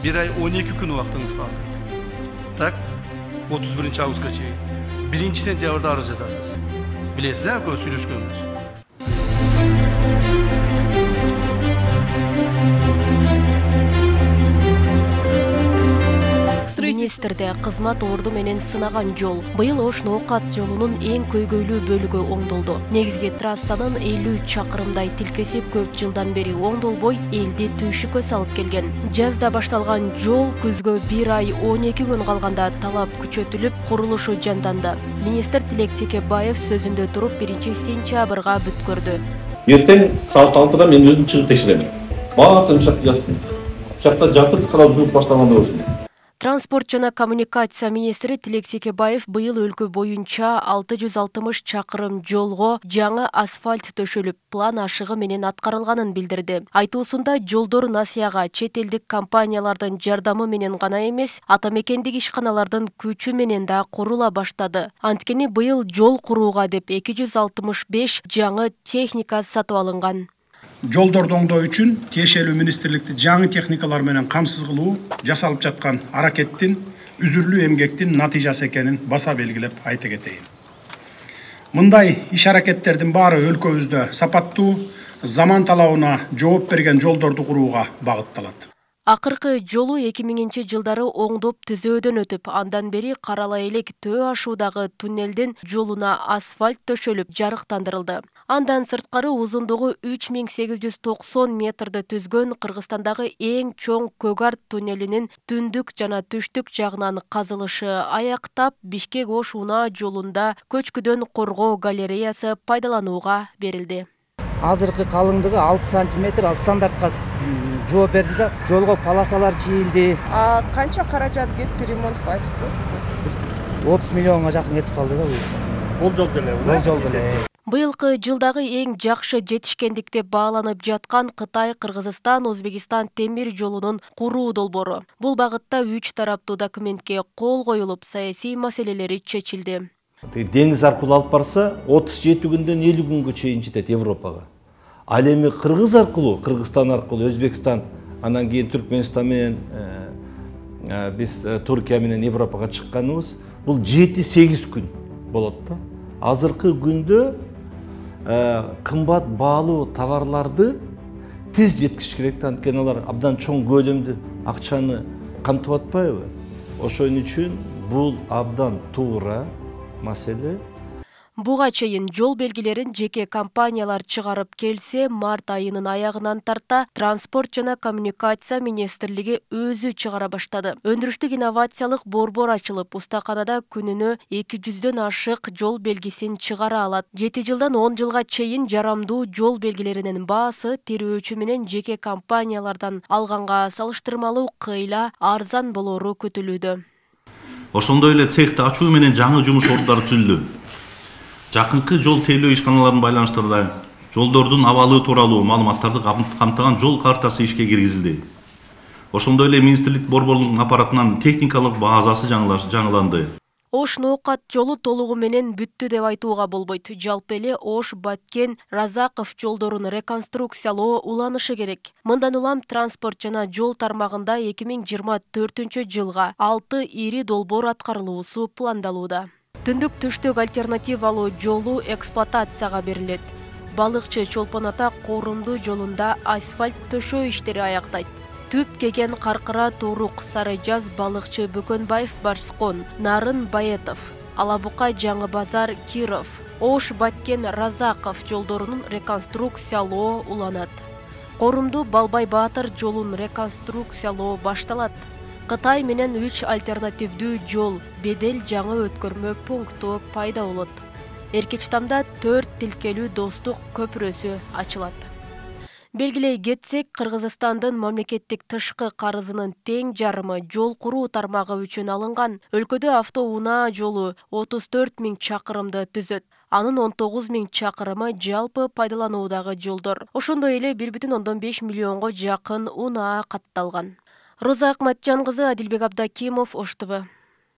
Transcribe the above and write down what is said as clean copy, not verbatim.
1 ай 12 күн убактыңыз калды. Так, 31 августка чейин. 1 сентябрда арыз жазасыз. Билесиз, экөө сүйлөшкөнбүз. Министрде кызмат орду менен сынаган жол. Быйыл Ош-Ноокат жолунун эң көйгөйлүү бөлүгү оңдолду. Негизги трассанын 50 чакырымдай тилкеси көп жылдан бери оңдолбой, элди түйшүккө салып келген. Жазда башталган жол күзгө 1 ай 12 күн калганда талап күчөтүлүп, курулушу жанданды. Министр Тилек Текебаев сөзүндө туруп 1 сентябрга бүткөрдү. Эртең саат 6-да мен өзүм чыгып текшерем. Баардык ушакта жатсын. Ушакта жатып карап жумуш баштаганда болсун. Транспорт жана коммуникация министри Тилек Текебаев быйыл өлкө боюнча 660 чакырым жолго жаңы асфальт төшөлүп, план ашыгы менен аткарылганын билдирди. Айтуусунда жолдор насыяга чет элдик компаниялардын жардамы менен гана эмес, ата мекендик ишканалардын күчү менен да курула баштады. Анткени быйыл жол курууга деп 265 жаңы техника сатып алынган. Жолдорду оңдоо үчүн тиешелүү министрликти жаңы техникалар менен камсыз кылуу жасалып жаткан аракеттин үзүрлүү эмгектин натыйжасы экенин баса белгилеп айта кетейин. Мындай иш аракеттердин баары өлкөбүздө сапаттуу, заман талабына жооп берген жолдорду курууга багытталат. Акыркы жолу 2000-жылдары оңдоп түзөөдөн өтүп, андан бери Карала элек Төө ашуудагы туннелдин жолуна асфальт төшөлүп, жарыктандырылды. Андан сырткары узундугу 3890 метрди түзгөн Кыргызстандагы эң чоң Көгарт туннелинин түндүк жана түштүк жагынан казылышы аяктап, Бишкек-Ош унаа жолунда көчкүдөн коргоо галереясы пайдаланууга берилди. Азыркы калыңдыгы 6 сантиметр стандартка жооп берди да, жолго полосалар чийилди. Канча каражат кетти ремонтко айтып коесузбу? 30 миллионго жакын кетип калды да буюрса. Бул жол деле. Бул жол деле. Быйылкы жылдагы эң жакшы жетишкендик деп бааланып жаткан Кытай, Кыргызстан, Өзбекстан темир жолунун куруу долбоору. Бул багытта 3 тараптуу документке кол коюлуп, саясий маселелери чечилди. Деңиз аркылуу алып барса, 37 күндөн 50 күнгө чейин жетет Европага. Ал эми Кыргыз аркылуу, Кыргызстан аркылуу, Өзбекстан, анан кийин Түркмөнстан менен биз Туркия менен Европага чыкканыбыз, бул 7-8 күн болот да. Азыркы күндө кымбат баалуу товарларды тез жеткизиш керек да, анткени алар абдан чоң көлөмдүү акчаны камтып атпайбы? Ошон үчүн бул абдан туура маселе. Буга чейин жол белгилерин жеке компаниялар чыгарып келсе, март айынын аягынан тарта Транспорт жана коммуникация министрлиги өзү чыгара баштады. Өндүрүштүк инновациялык борбор ачылып, устаканада күнүнө 200дөн ашык жол белгисин чыгара алат. 7 жылдан 10 жылга чейин жарамдуу жол белгилеринин баасы тирөөчү менен жеке компаниялардан алганга салыштырмалуу кыйла арзан болору күтүлүүдө. Ошондой эле цехти ачуу менен жаңы жумуш ордундары түзүлдү. Жакынкы жол тейлөө ишканаларын байланыштырды. Жолдордун абалы тууралуу маалыматтарды камтыган жол картасы ишке киргизилди. Ошондой эле министрлик борборунун аппаратынан техникалык базасы жаңыланды. Ош-Ноокат жолу толугу менен бүттү деп айтууга болбойт. Жалпы эле Ош-Баткен, Разаков жолдорун реконструкциялоо уланышы керек. Мындан улам транспорт жана жол тармагында 2024-жылга 6 ири долбоор аткарылуусу пландалууда. Түндүк түштүк альтернативалуу жолу эксплуатацияга берилет. Балыкчы Чолпон Ата Корумду жолунда асфальт төшөө иштери аяктайт. Түп кеген Каркыра Турук, Сарыжаз Балыкчы Бөкөнбаев Барскон, Нарын Баетов, Алабука Жаңы Базар Киров, Ош-Баткен Разаков жолдорунун реконструкциялоо уланат. Корумду Балбай Баатыр жолун реконструкциялоо башталат. Кытай менен 3 альтернативдүү жол, бедел жаңы өткөрмө пункту пайда болот. Эркечтамда 4 тилкелүү достук көпүрөсү ачылат. Белгилей кетсек, Кыргызстандын мамлекеттик тышкы карызынын тең жарымы жол куруу тармагы үчүн алынган. Өлкөдө авто-унаа жолу 34 000 чакырымды түзөт. Анын 19 000 чакырымы жалпы пайдалануудагы жолдор. Ошондой эле 1,5 миллионго жакын унаа катталган. Роза Акматжан кызы, Адилбек Абдакимов, Ош ТВ.